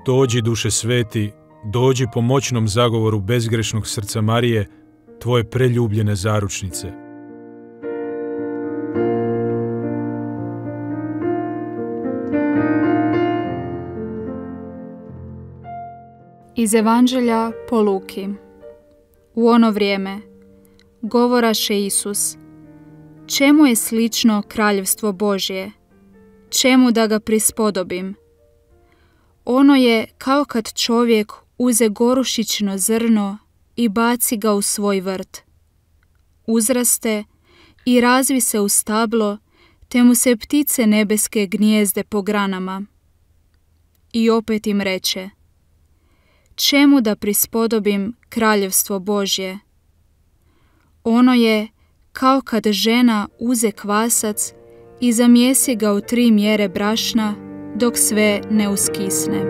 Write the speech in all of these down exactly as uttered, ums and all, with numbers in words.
Dođi, duše sveti, dođi po moćnom zagovoru bezgrešnog srca Marije, tvoje preljubljene zaručnice. Iz Evanđelja po Luki. U ono vrijeme govoraše Isus: čemu je slično kraljevstvo Božje? Čemu da ga prispodobim? Ono je kao kad čovjek uze gorušično zrno i baci ga u svoj vrt. Uzraste i razvi se u stablo, te mu se ptice nebeske gnijezde po granama. I opet im reče: čemu da prispodobim kraljevstvo Božje? Ono je kao kad žena uze kvasac i zamjesi ga u tri mjere brašna dok sve ne uskisne.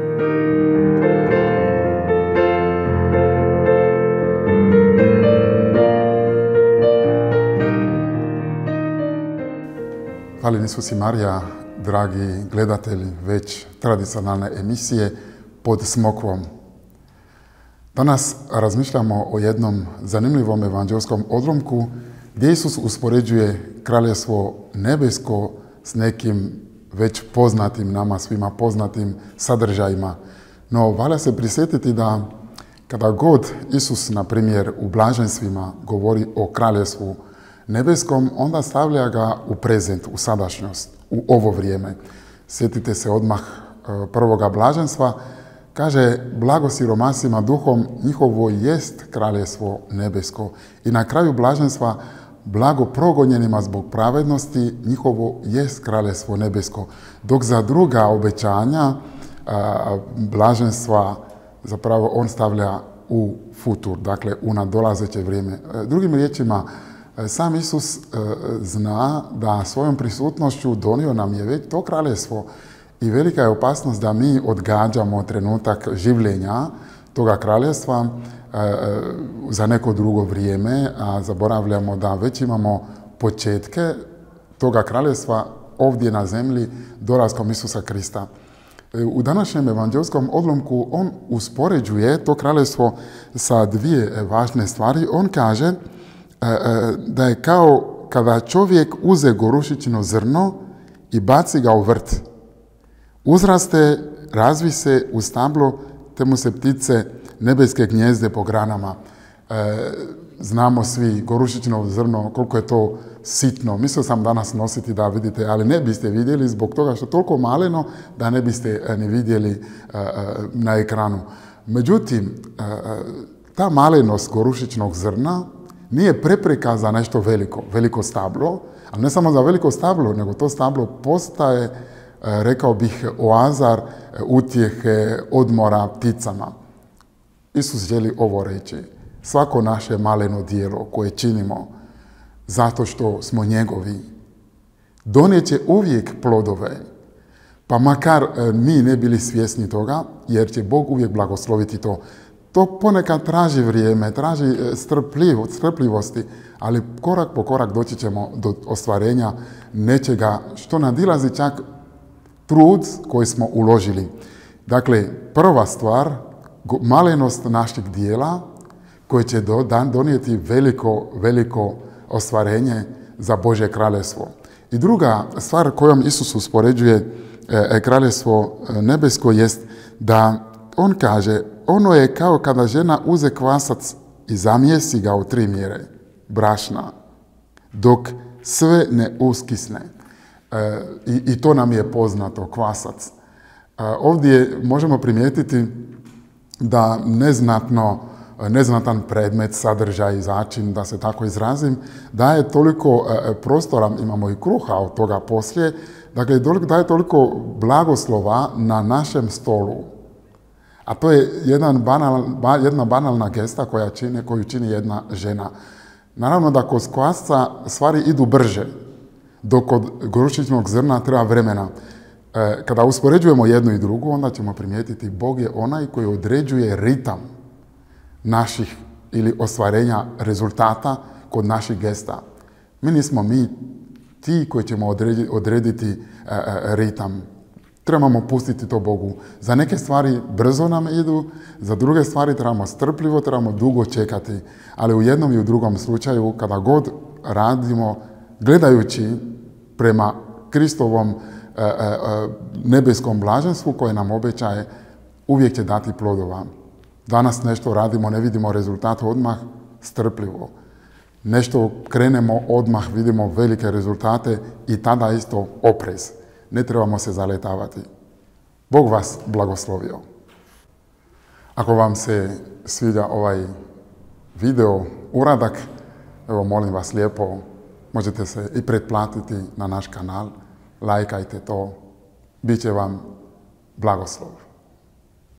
Hvala Isus i Marija, dragi gledatelji već tradicionalne emisije Pod smokvom. Danas razmišljamo o jednom zanimljivom evanđelskom odlomku gdje Isus uspoređuje kraljevstvo nebesko s nekim već poznatim, nama svima poznatim sadržajima. No, valja se prisjetiti da kada god Isus, na primjer, u blaženstvima govori o kraljevstvu nebeskom, onda stavlja ga u prezent, u sadašnjost, u ovo vrijeme. Sjetite se odmah prvoga blaženstva. Kaže, blago siromasima duhom, njihovo jest kraljevstvo nebesko. I na kraju blaženstva, blago progonjenima zbog pravednosti, njihovo jest kraljevstvo nebesko. Dok za druga obećanja blaženstva zapravo on stavlja u futur, dakle u nadolazeće vrijeme. Drugim riječima, sam Isus zna da svojom prisutnošću donio nam je već to kraljevstvo. I velika je opasnost da mi odgađamo trenutak življenja toga kraljevstva e, za neko drugo vrijeme, a zaboravljamo da već imamo početke toga kraljevstva ovdje na zemlji dolaskom Isusa Krista. E, u današnjem evanđelskom odlomku on uspoređuje to kraljevstvo sa dvije važne stvari. On kaže e, e, da je kao kada čovjek uze gorušično zrno i baci ga u vrt. Uzraste, razvi se u stablo, te mu se ptice nebeske gnijezde po granama. E, znamo svi gorušično zrno, koliko je to sitno. Mislio sam danas nositi da vidite, ali ne biste vidjeli zbog toga što je toliko maleno da ne biste ni vidjeli e, na ekranu. Međutim, e, ta malenost gorušičnog zrna nije prepreka za nešto veliko, veliko stablo, ali ne samo za veliko stablo, nego to stablo postaje, rekao bih, oazar utjehe, odmora pticama. Isus želi ovo reći. Svako naše maleno djelo koje činimo zato što smo njegovi donijet će uvijek plodove, pa makar mi ne bili svjesni toga, jer će Bog uvijek blagosloviti to. To ponekad traži vrijeme, traži strpljivosti, ali korak po korak doći ćemo do ostvarenja nečega što nadilazi čak trud koji smo uložili. Dakle, prva stvar, malenost našeg dijela koje će donijeti veliko, veliko ostvarenje za Božje kraljevstvo. I druga stvar kojom Isus uspoređuje e, kraljevstvo nebesko jest da on kaže, ono je kao kada žena uze kvasac i zamjesi ga u tri mjere brašna, dok sve ne uskisne. E, i, I to nam je poznato, kvasac. E, ovdje možemo primijetiti da neznatno, neznatan predmet, sadržaj i začin, da se tako izrazim, daje toliko e, prostora, imamo i kruha od toga poslije, dakle daje toliko blagoslova na našem stolu. A to je jedan banal, ba, jedna banalna gesta koja čini, koju čini jedna žena. Naravno da kod kvasca stvari idu brže, dok kod gorušičnog zrna treba vremena. E, kada uspoređujemo jednu i drugu, onda ćemo primijetiti Bog je onaj koji određuje ritam naših ili ostvarenja rezultata kod naših gesta. Mi nismo mi ti koji ćemo odrediti, odrediti e, e, ritam. trebamo pustiti to Bogu. Za neke stvari brzo nam idu, za druge stvari trebamo strpljivo, trebamo dugo čekati. Ali u jednom i u drugom slučaju, kada god radimo, gledajući prema Kristovom e, e, nebeskom blaženstvu koje nam obećaje, uvijek će dati plodova. Danas nešto radimo, ne vidimo rezultat odmah, strpljivo. Nešto krenemo odmah, vidimo velike rezultate i tada isto oprez. Ne trebamo se zaletavati. Bog vas blagoslovio. Ako vam se sviđa ovaj video uradak, evo molim vas lijepo, možete se i pretplatiti na naš kanal, lajkajte to, bit će vam blagoslov.